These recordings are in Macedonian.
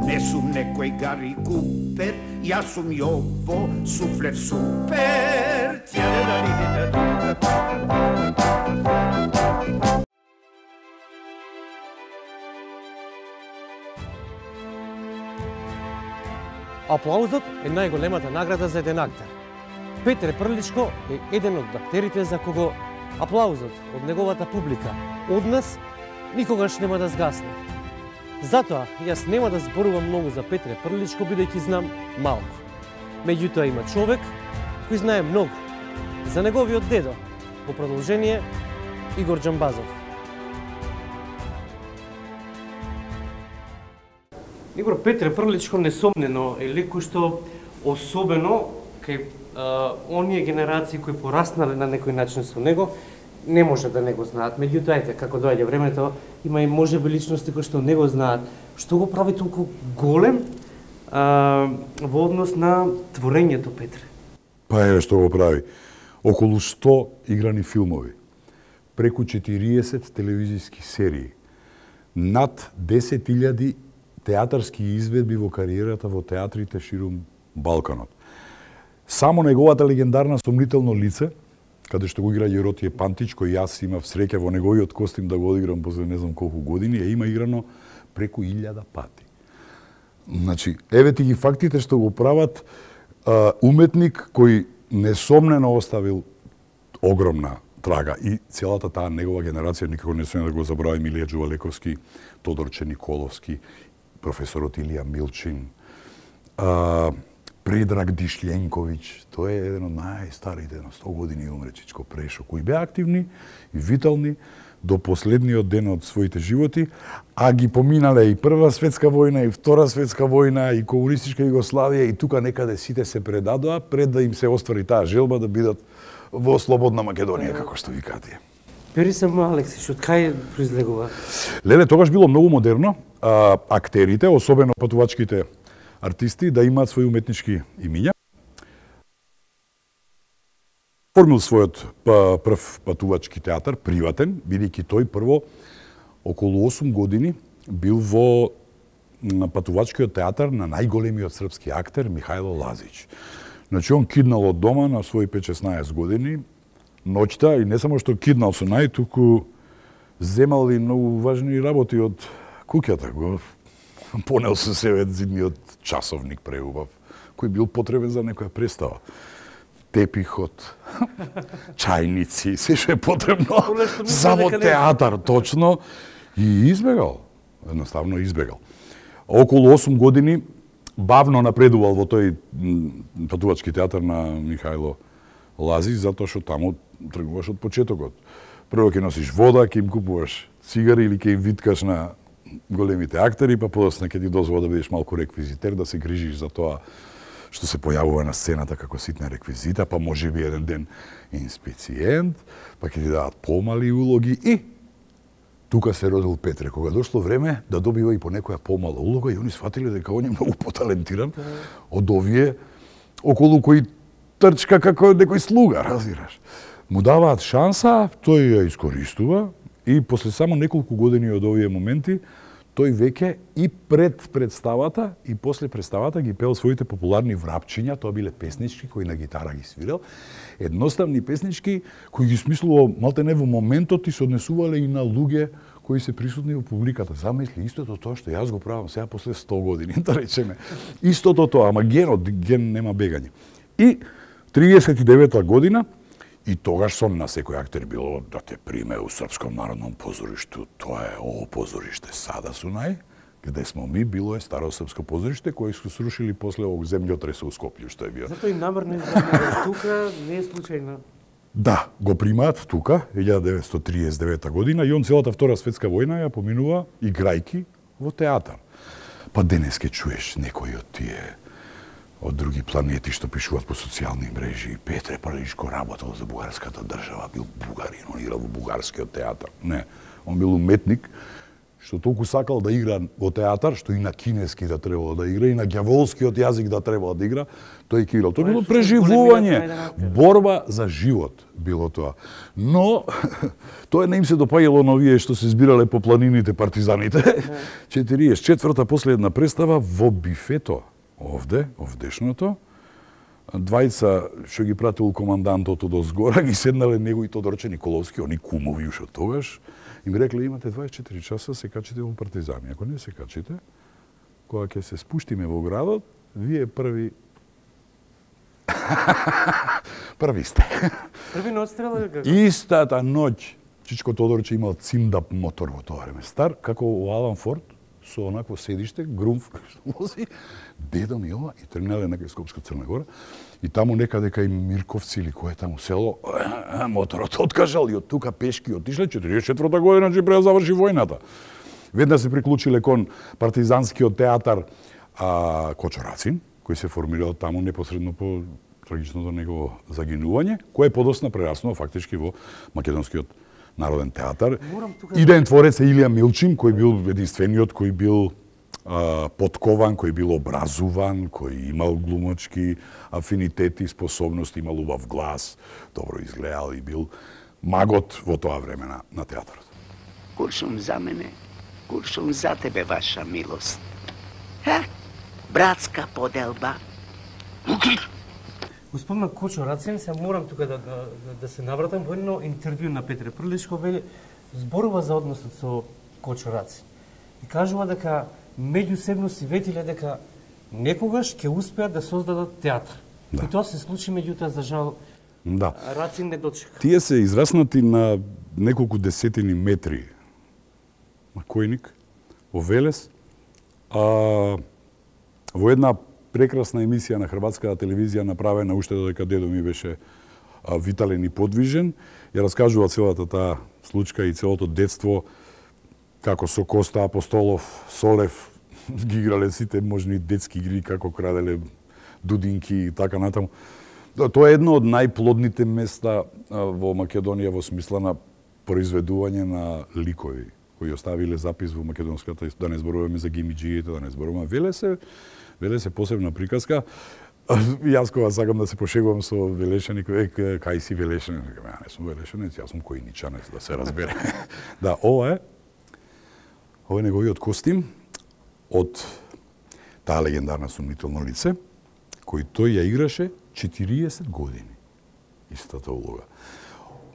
Не сум некој Гари Купер, јас сум Јово Суфлер Супер. Аплаузот е најголемата награда за еден актер. Петре Прличко е еден од актерите за кого аплаузот од неговата публика од нас никогаш нема да згасне. Затоа јас нема да зборувам многу за Петре Прличко, бидејќи знам малку. Меѓутоа има човек кој знае многу за неговиот дедо, во продолжение Игор Џамбазов. Игор, Петре Прличко несомнено е лик кој што особено кај оние генерации кои пораснале на некој начин со него, не може да не го знаат. Меѓутоа, ете, како доаѓа времето, има и можеби личности кои што не го знаат. Што го прави толку голем во однос на творењето Петре? Па еве што го прави. Околу 100 играни филмови, преку 40 телевизиски серии, над 10.000 театарски изведби во кариерата во театрите ширум Балканот. Само неговата легендарна Сомнително лице, каде што го игра Јоротије Пантич, кој јас имав среќа во неговиот костим да го одиграм после не знам колку години, има играно преку 1000 пати. Значи, еве ти ги фактите што го прават уметник кој несомнено оставил огромна трага и целата таа негова генерација, никако не смеем да го забравим, Илија Џувалековски, Тодорче Николовски, професорот Илија Милчин, Предраг Дишлjenković, тој е еден од најстарите, на 100 години умре Чичко Прешо, кои беа активни и витални до последниот ден од своите животи, а ги поминале и Прва светска војна, и Втора светска војна, и комунистичка Југославија, и тука некаде сите се предадоа пред да им се оствари таа желба да бидат во слободна Македонија, како што викаат тие. Пери само Алексиш, од кај произлегува? Леле, тогаш било многу модерно актерите, особено патувачките артисти, да имаат своји уметнички имиња. Формил својот прв патувачки театар, приватен, бидејќи тој прво околу 8 години бил во патувачкиот театар на најголемиот српски актер Михајло Лазич. Значи, он киднал од дома на своји 5-16 години, ноќта, и не само што киднал со нај, туку земал и многу важни работи од куќата. Го понел со себе зидниот часовник преубав, кој бил потребен за некоја представа. Тепихот, чајници, се што е потребно за во театар, точно, и избегал. Едноставно избегал. Околу 8 години бавно напредувал во тој патувачки театар на Михајло Лазич, затоа што таму тргуваш од почетокот. Прво ќе носиш вода, ќе им купуваш цигари или ќе им виткаш на големите актери, па подоцна ќе ти дозвола да бидеш малку реквизитер, да се грижиш за тоа што се појавува на сцената како ситна реквизита, па може би еден ден инспициент, па ќе ти дадат помали улоги и тука се родил Петре, кога дошло време да добива и по некоја помала улога и они сфатиле дека он е многу поталентиран од овие околу кои трчка како некој слуга, разбираш. Му даваат шанса, тој ја искористува и после само неколку години од овие моменти тој веќе и пред представата и после представата ги пеел своите популарни врапчиња, тоа биле песнички кои на гитара ги свирел, едноставни песнички кои ги смислувал малтене во моментот и се однесувале и на луѓе кои се присутни во публиката. Замисли истото тоа што јас го правам сега после 100 години, да речеме. Истото тоа, ама ген нема бегање. И 39-та година, и тогаш сон на секој актер било да те приме у Српском народном позоришту. Тоа е ово позориште сада Сунај, каде смо ми, било е старо српско позориште кој се срушили после овог земјотрес у Скопје што е био. Затоа и намерно избрано тука, не е случајно. Да, го примаат тука 1939 година и он целата Втора светска војна ја поминува играјки во театар. Па денеске чуеш некои од тие од други планети што пишуваат по социјални мрежи. Петре Прличко работел за бугарската држава, бил бугарин, он играл во бугарскиот театар. Не, он бил уметник што толку сакал да игра во театар, што и на кинески да требало да игра, и на ѓаволскиот јазик да требало да игра, тој ќе играл. Тоа било преживување, борба за живот било тоа. Но, тоа не им се допаѓало на овие што се збирале по планините партизаните. 44-та последна представа во бифето, овдешното, двајца што ги пратил командантот од озгора, ги седнале него и Тодорче Николовски, они кумови уште тогаш, и ми рекле, имате 24 часа, се качите во партизани. Ако не се качите, кога ќе се спуштиме во градот, вие први... први сте. Први на отстрел или како? Истата ноќ, Чичко Тодорче имал циндап мотор во тоа време. Стар, како Алан Форд, со онакво седиште, грумф, вози, дедо ми ова, и тргнале на Скопска Црна Гора, и таму некаде кај Мирковци или кое таму село, моторот откажал и од тука пешки отишле, 44-та година, че преда заврши војната. Веднаш се приклучиле кон партизанскиот театар Кочо Рацин, кој се формирал таму непосредно по трагичното негово загинување, кое подосна прераснува фактички во македонскиот Народен театар. Идеен творец е Илија Милчин, кој бил единствениот, кој бил подкован, кој бил образуван, кој имал глумачки афинитети, способности, имал убав глас, добро изгледал и бил магот во тоа време на театарот. Куршум за мене, куршум за тебе, ваша милост. Братска поделба. Спомна Кочо Рацин, се морам тука да се навратам во едно интервју на Петре Прличко, зборува за односот со Кочо Рацин. И кажува дека меѓусебно си ветиле дека некогаш ќе успеат да создадат театар. Да. И тоа се случи, меѓутоа за жал Рацин не дочека. Тие се израснати на неколку десетини метри на Којник, во Велес, во една прекрасна емисија на хрватската телевизија направена уште додека дедо ми беше витален и подвижен, ја раскажува целата таа случка и целото детство, како со Коста Апостолов, Солев, ги играле сите можни детски игри, како краделе дудинки и така натаму. Тоа е едно од најплодните места во Македонија во смисла на произведување на ликови, кои оставиле запис во македонската, да не зборуваме за гимиџиите, да не зборуваме. Велес е посебна приказка. Јас кога сакам да се пошегувам со Велешани, кај си Велешани? Ја не сум Велешанец, јас сум Којничанец, да се разбере. Да, ова е неговиот костим од таа легендарна сомнително лице, кој тој ја играше 40 години. Истата улога.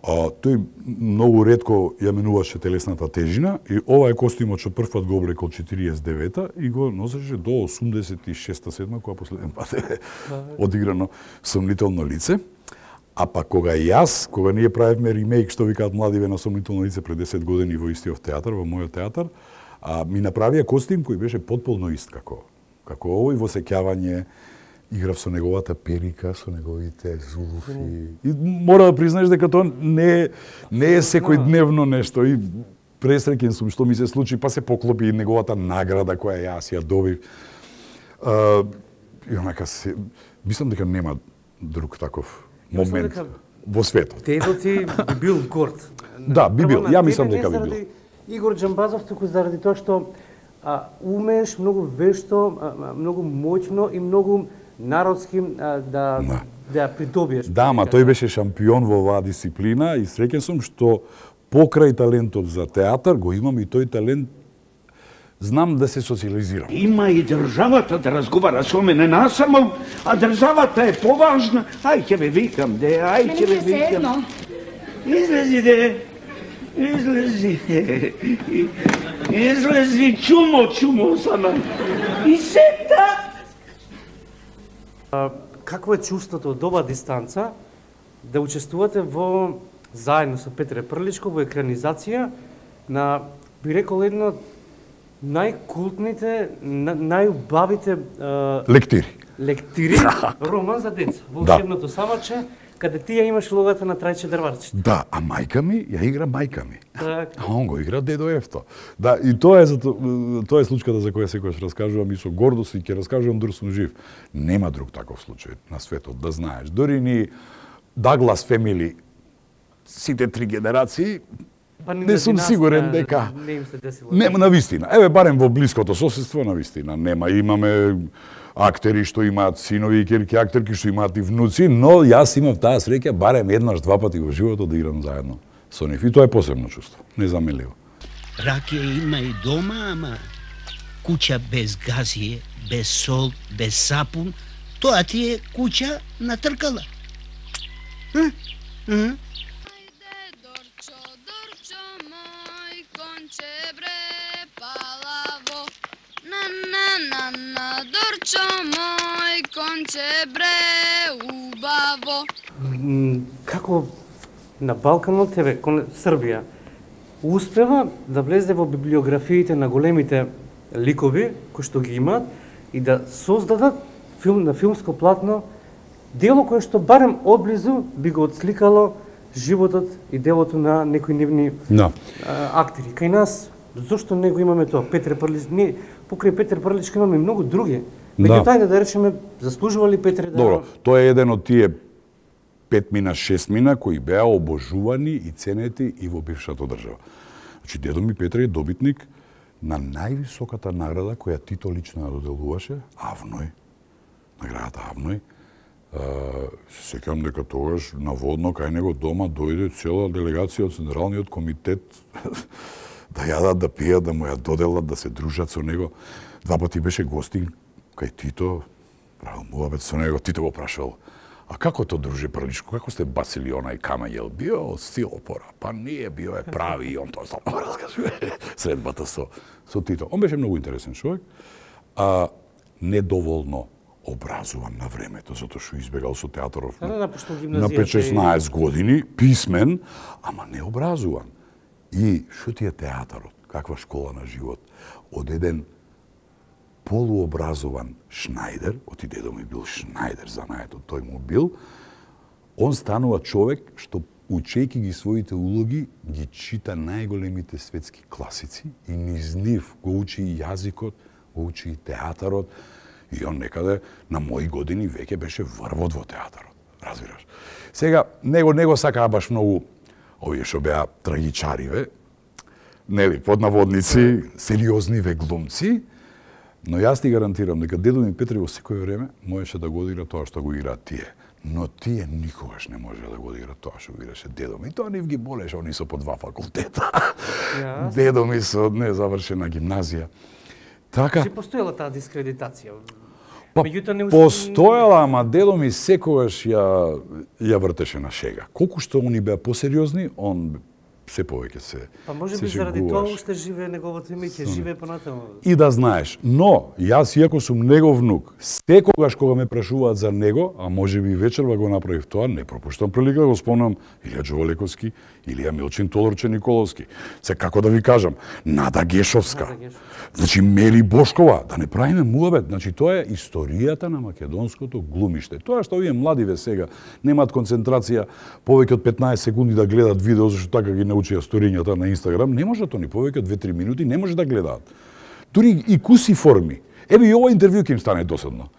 Тој многу ретко ја менуваше телесната тежина и ова е костимот што првпат го облекол 49-та и го носеше до 86-7 кога последен пат е одиграно сомнително лице. А па кога ние правевме ремейк, што викаат младиве на сомнително лице пред 10 години во истиот театар, во мојот театар, ми направија костим кој беше потполно ист како овој, во сеќавање. Играв со неговата перика, со неговите зулуфи. И мора да признаеш дека тоа не е секојдневно нешто. И пресреќен сум што ми се случи, па се поклопи и неговата награда која јас ја добив. И онака мислам дека нема друг таков момент во светот. Дедо ти би бил горд. Да, би бил. Ја мислам дека би бил. Игор Џамбазов, туку заради тоа што умееш многу вешто, многу моќно и многу народски да ја придобиеш. Да, ма тој беше шампион во оваа дисциплина и среќен сум што покрај талентот за театар го имам и тој талент, знам да се социализирам. Има и државата да разговара со мене насамо, а државата е поважна. Ај ќе ве викам, ај ќе ве викам. Излези, излези, чумо сама. И сета. Какво е чувството од оваа дистанца да учествувате заедно со Петре Прличко во екранизација на, би рекол, едно од најкултните, најубавите лектири, роман за деца, Волшебното самаче, каде ти ја имаш логата на Трајче Дрварче. Да, а мајка ми ја игра мајка ми. А он го игра дедо Ефто. Да, и тоа е случката за која секогаш раскажувам и со гордост и ќе раскажувам дори сум жив. Нема друг таков случај на светот, да знаеш. Дори ни Даглас Фемили, сите три генерации, не сум сигурен дека не им се десило. Нема навистина. Еве барем во блиското соседство навистина нема. Имаме актери што имаат синови и ќерки, актерки што имаат и внуци, но јас имав таа среќа барем еднаш, два пати во животот да играм заедно со нив. И тоа е посебно чувство, незаменливо. Ракија има и дома, ама куќа без газие, без сол, без сапун, тоа ти е куќа на тркала. Дорчо мој конче бре убаво. Како на Балканот, еве, кон Србија, успева да влезе во библиографиите на големите ликови кои што ги имаат и да создадат на филмско платно дело кое што барем одблизу би го отсликало животот и делото на некои нивни актери. Кај нас, зошто не го имаме тоа? Петре Прлич, не, покрај Петре Прличка имаме многу други. Меѓутоа, да речеме, заслужува ли Петре да... Добро, тоа е еден од тие 5 мина, 6 мина кои беа обожувани и ценети и во бившата држава. Значи, дедо ми Петре е добитник на највисоката награда која Тито лично ја доделуваше, Авној, наградата Авној. Сеќавам дека тогаш наводно кај него дома дојде цела делегација од Централниот комитет да јадат, да пијат, да му ја доделат, да се дружат со него. Два пати беше гостин кај Тито, правил муабет со него, Тито го прашал: "А како то, друже Прличко, како сте бацили онај камењ? Јел био од стилопора?" "Па не, био е прави." И он тоа само раскажува средбата со Тито. Он беше многу интересен човек, а недоволно образуван на времето, затоа што избегал со театаров на 5-16 години, писмен, ама необразуван. И што ти е театарот? Каква школа на живот? Од еден полуобразован Шнајдер, оти дедо ми бил Шнајдер занаето, тој му бил, он станува човек што учејќи ги своите улоги, ги чита најголемите светски класици и низ нив го учи и јазикот, го учи и театарот, и он некаде на мои години веќе беше врвот во театарот, разбираш. Сега, него сакаа баш многу овие што беа трагичариве, нели, под наводници, сериозниве глумци, но јас ти гарантирам дека дедо ми Петре во секој време можеше да го одигра тоа што го играат тие. Но тие никогаш не може да го одигра тоа што го играше дедо ми. Тоа нив ги болеше, они со по 2 факултета. Дедо ми со незавршена гимназија. Така. Че постоела таа дискредитација? Па, постоела, ама дедо ми секогаш ја вртеше на шега. Колку што они беа посериозни, он се повеќе се Па може би заради тоа уште живее неговото име, ќе живее понатаму. И да знаеш, но јас иако сум негов внук, секогаш кога ме прашуваат за него, а може би вечерва го направив тоа, не пропуштам прилика да го спомнам Илија Џоволековски, Илија Милчин Тодорче Николовски. Се како да ви кажам, Нада Гешовска. Значи Мели Бошкова, да не правиме муабет, значи тоа е историјата на македонското глумиште. Тоа што овие младиве сега немаат концентрација повеќе од 15 секунди да гледат видео зашто така ги научија сторињата на Инстаграм, не можат они повеќе од 2-3 минути, не може да гледаат. Дури и куси форми. Еве и ова интервју ќе им стане досадно.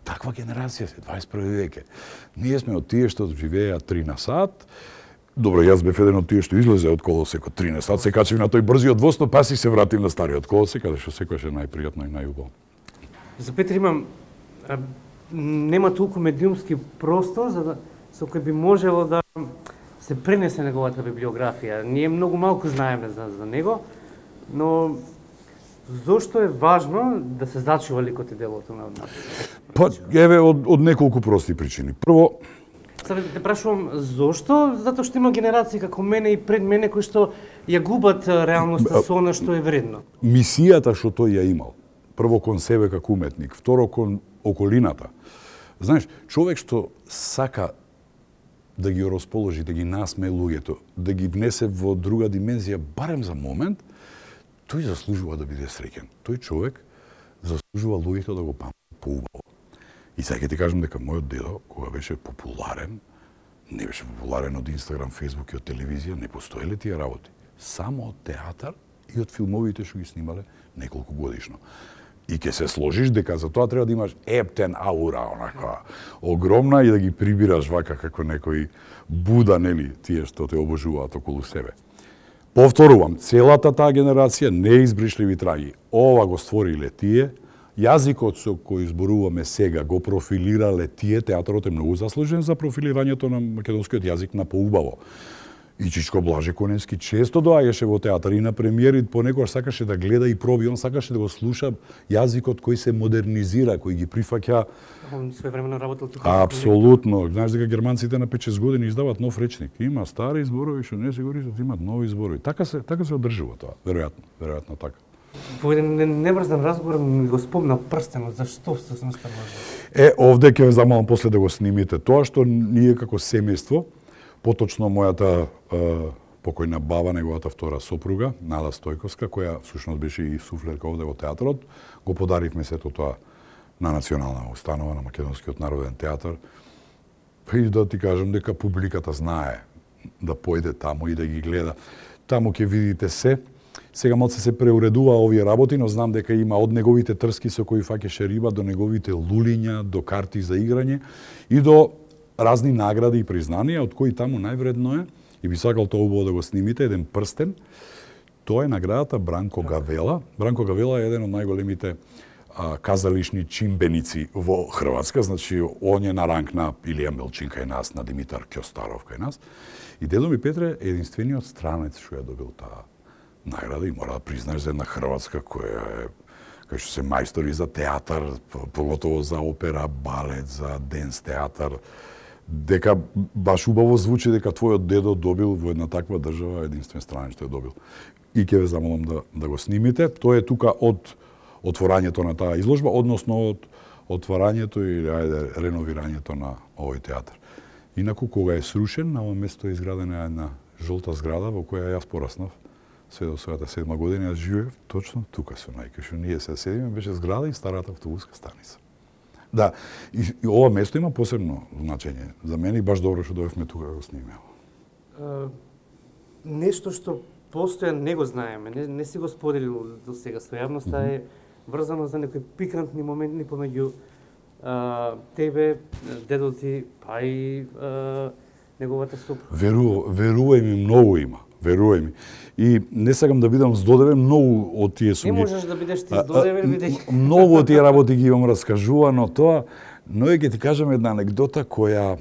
Таква генерација се, 21 веќе. Ние сме од тие што живееат 3 на сат. Добро, јас бев еден од тие што излезе од колосекот 3 на сат, се качив на тој брзиот воз, па си се вратив на стариот колосек, каде што секојаш е најпријатно и најубаво. За Петре имам нема толку медиумски простор за да со кој би можело да се пренесе неговата библиографија. Ние многу малку знаеме за него, но зошто е важно да се зачува ликот и делото на Па, еве, од неколку прости причини. Прво, Сега те прашувам зошто? Затоа што има генерации како мене и пред мене кои што ја губат реалноста со она што е вредно. Мисијата што тој ја имал. Прво кон себе како уметник, второ кон околината. Знаеш, човек што сака да ги расположи, да ги насме луѓето, да ги внесе во друга димензија барем за момент, тој заслужува да биде среќен. Тој човек заслужува луѓето да го памтат поубаво. И сега ќе ти кажам дека мојот дедо, кога беше популарен, не беше популарен од Инстаграм, Фейсбук и од телевизија, не постоеле тие работи. Само од театар и од филмовите што ги снимале неколку годишно. И ќе се сложиш дека за тоа треба да имаш ептен аура, онака огромна и да ги прибираш вака како некој Буда, нели, тие што те обожуваат околу себе. Повторувам, целата таа генерација неизбришливи траги. Ова го створиле тие, јазикот со кој зборуваме сега го профилирале тие, театарот е многу заслужен за профилирањето на македонскиот јазик на поубаво. И Чичко Блаже Коневски често доаѓаше во театар и на премиери, понекогаш сакаше да гледа и проби, он сакаше да го слуша јазикот кој се модернизира, кој ги прифаќа. Он своевремено работел тука. Апсолутно. Знаеш дека германците на 5-6 години издаваат нов речник. Има стари зборови што не се користат, имаат нови зборови. Така се одржува тоа, веројатно така. Во еден неврзан разговор ми го спомна прстенот, зашто всушност така може? Овде ќе ве замолам после да го снимите тоа што ние како семејство, поточно мојата покојна баба, неговата втора сопруга, Нада Стојковска, која всушност беше и суфлерка овде во театарот, го подаривме сето тоа на национална установа, на Македонскиот народен театар. И да ти кажам дека публиката знае да појде таму и да ги гледа. Таму ќе видите се. Сега малце се преуредува овие работи, но знам дека има од неговите трски со кои фаќаше риба до неговите лулиња, до карти за играње и до разни награди и признанија, од кои таму највредно е, и би сакал тоа убаво да го снимите, еден прстен. Тоа е наградата Бранко Гавела. Бранко Гавела е еден од најголемите казалишни чимбеници во Хрватска, значи он е на ранг на Илија Мелчин кај нас, на Димитар Кјостаров кај нас. И дедо ми Петре е единствениот странец што ја добил таа награда и мора да признаеш за една Хрватска која е кај што се мајстори за театар, поготово за опера, балет, за денс театар, дека баш убаво звучи дека твојот дедо добил во една таква држава единствен странец што е добил. И ќе ве замолам да го снимите. Тоа е тука од отворањето на таа изложба, односно од отворањето или реновирањето на овој театар. Инаку кога е срушен, на ова место е изградена една жолта зграда во која јас пораснав. Све до својата 7 година јас живеев точно тука со најка што ние се седиме, беше зграда и старата автобуска станица. Да, и ова место има посебно значење за мене и баш добро што дојавме тука да го снимеме. Нешто што постојано не го знаеме, не си го споделил до сега со јавноста е врзано за некои пикантни моменти помеѓу тебе, дедо ти, па и неговата сопруга. Верувај ми, многу има. Верувај ми. И не сакам да бидам здодевен, многу од тие сум Не можеш да бидеш ти здодевен, бидејќи многу од тие работи ги имам раскажувано тоа, но ќе ти кажам една анегдота која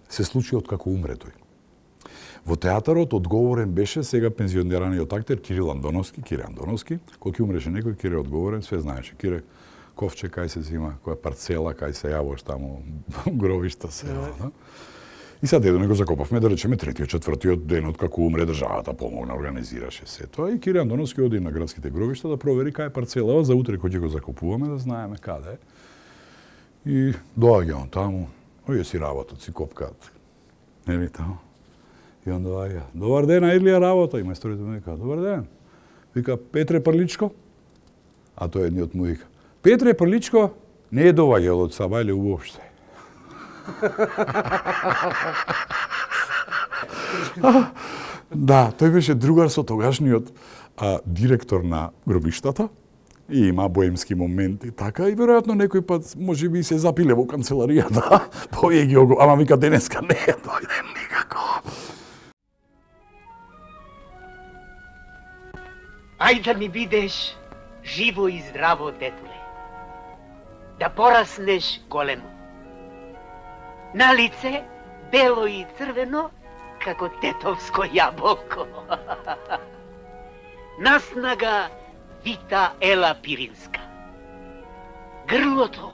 се случи од како умре тој. Во театарот одговорен беше сега пензионираниот актер Кирил Андоновски, кој ќе умреше некој, Кире одговорен, све знаеше. Кире ковче кај се зима, која парцела кај се јавош таму, гробишта се. И сега дедо ми го закопавме, да речеме, третиот, четвртиот ден од како умре државата, помогна, организираше се тоа. И Кире Андоновски оди на градските гробишта да провери кај е парцелава, за утре кој ќе го закупуваме, да знаеме каде е. И доаѓа он таму, овие си работат, си копкаат. Нели таму? И он доаѓа. Добар ден, Илија, работа. И мајсторите му вика, добар ден. Вика, Петре Прличко? А тој едниот му вика, Петре Прличко не е доваѓал од Сабајле уопште. Да, тој беше другар со тогашниот директор на гробиштата и има боемски моменти, така и веројатно некој пат можеби се запиле во канцеларијата, повие ги ама вика денеска не е дојден никако. Ајде да ми бидеш живо и здраво, детуле. Да пораснеш големо. На лице бело и црвено, како тетовско јаболко. Наснага вита ела пиринска. Грлото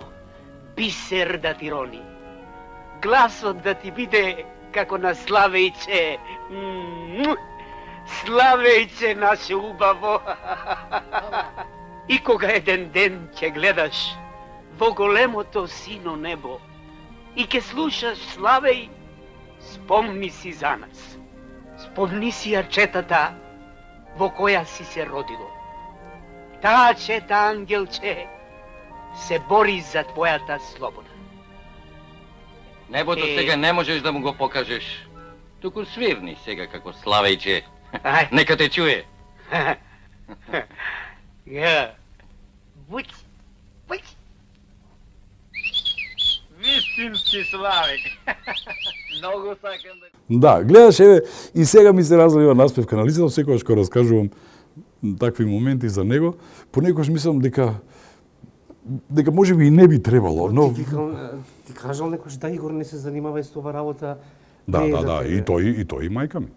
бисер да ти рони. Гласот да ти биде како на Славејче. Славејче наше убаво. И кога еден ден ќе гледаш во големото сино небо и ќе слушаш Славеј, спомни си за нас. Спомни си ја четата во која си се родило. Таа чета, ангелче, се бори за твојата слобода. Небото сега не можеш да му го покажеш. Туку свирни сега како Славејче. Нека те чуе. Буќ, буќ. Вистински Славеј. Многу сакам да... Да, гледаш, еве, и сега ми се разлива наспевка на лицето, секогаш кога раскажувам такви моменти за него, понекогаш мислам дека можеби и не би требало, но... Ти кажал некојаш да, Игор не се занимава и со ова работа. Да, и тој и мајка ми.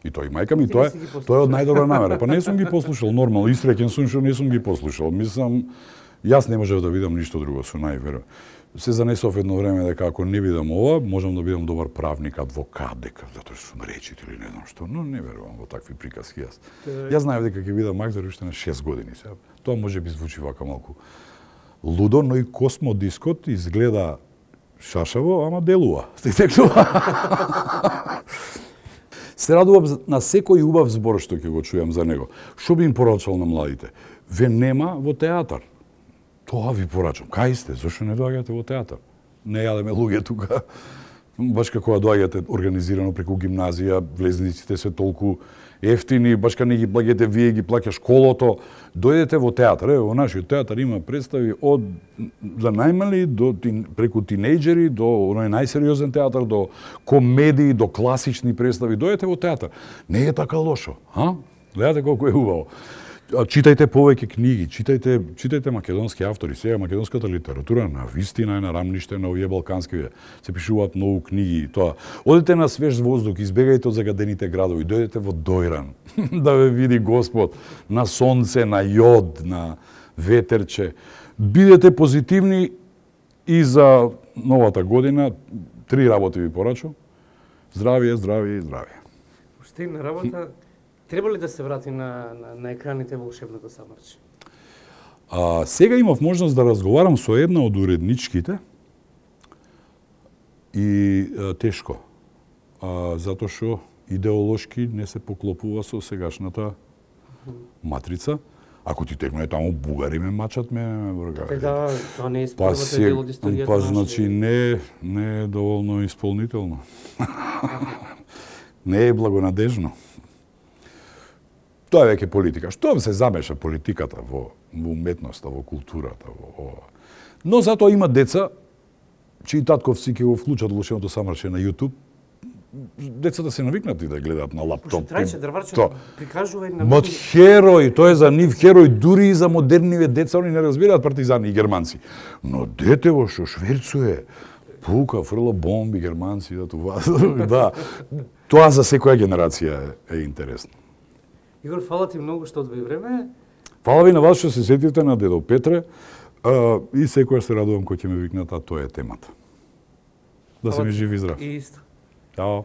И тој и мајка ми, тоа е од најдобра намера. Па не сум ги послушал нормално, истреќен сум што не сум ги послушал. Мислам, јас не можев да видам ништо друго, со најверо. Се занесов едно време дека ако не видам ова, можам да бидам добар правник, адвокат, дека затоа што сум речит или не знам што, но не верувам во такви приказки јас. Јас знаев дека ќе бидам актер уште на 6 години сега. Тоа можеби звучи вака малку лудо, но и космодискот изгледа шашаво, ама делува. Се радувам на секој убав збор што ќе го чујам за него. Што би им порачал на младите? Ве нема во театар. Тоа ви порачам. Кај сте? Зошто не доаѓате во театар? Не јадеме луѓе тука. Баш како доаѓате организирано преку гимназија, влезниците се толку ефтини, баш кога не ги плаќате вие, ги плаќа школото. Дојдете во театар. Во нашиот театар има представи од за најмали до преку тинејџери, до оној најсериозен театар, до комедии, до класични представи. Дојдете во театар. Не е така лошо, а? Гледате колку е убаво. Читајте повеќе книги, читајте македонски автори. Сега македонската литература на вистина е на рамниште на овие балкански. Се пишуваат многу книги и тоа. Одете на свеж воздух, избегајте од загадените градови, дојдете во Дојран да ве види Господ, на сонце, на јод, на ветерче. Бидете позитивни и за новата година. 3 работи ви порачувам. Здравие, здравие и здравие. Уште една работа. Треба ли да се врати на екраните волшебното самарче? Сега имав можност да разговарам со една од уредничките и тешко. Затоа што идеолошки не се поклопува со сегашната матрица. Ако ти текне таму бугари ме мачат, ме вргаат. Да, тоа не е првата дел од историјата. Па значи не е доволно исполнително. Не е благонадежно. Тоа е веќе политика. Што се замеша политиката во уметноста, во културата, во ова. Но затоа има деца, чии татковци ќе го вклучат волшебното самарче на YouTube. Децата се навикнати да гледаат на лаптоп. Трајче дрварче прикажува и на Мод херој, тој е за нив херој, дури и за модерниве деца, они не разбираат партизани и германци. Но детево што шверцуе, пука, фрла бомби, германци, да това. Да. Тоа за секоја генерација е интересно. Игор, фала ти многу што одвои време. Фала ви на вас што се сетите на дедо Петре и секоја се радувам кој ќе ме викнат, а тоа е темата. Да се ми жив и здрав. И исто. Чао.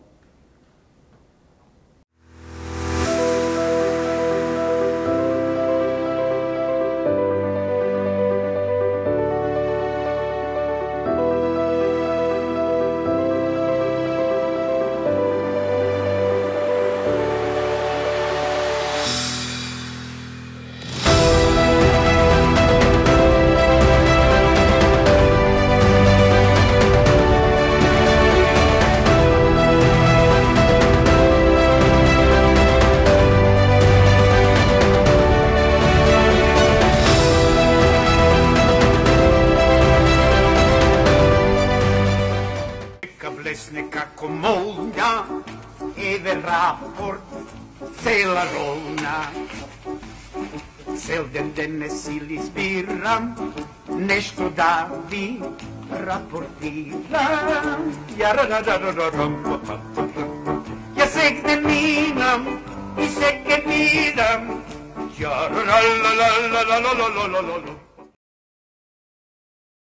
Како молња, еве рапорт, цела rolna. Цел ден денес или збирам, нешто да ви рапортирам. Ја сек не минам и сек ке видам.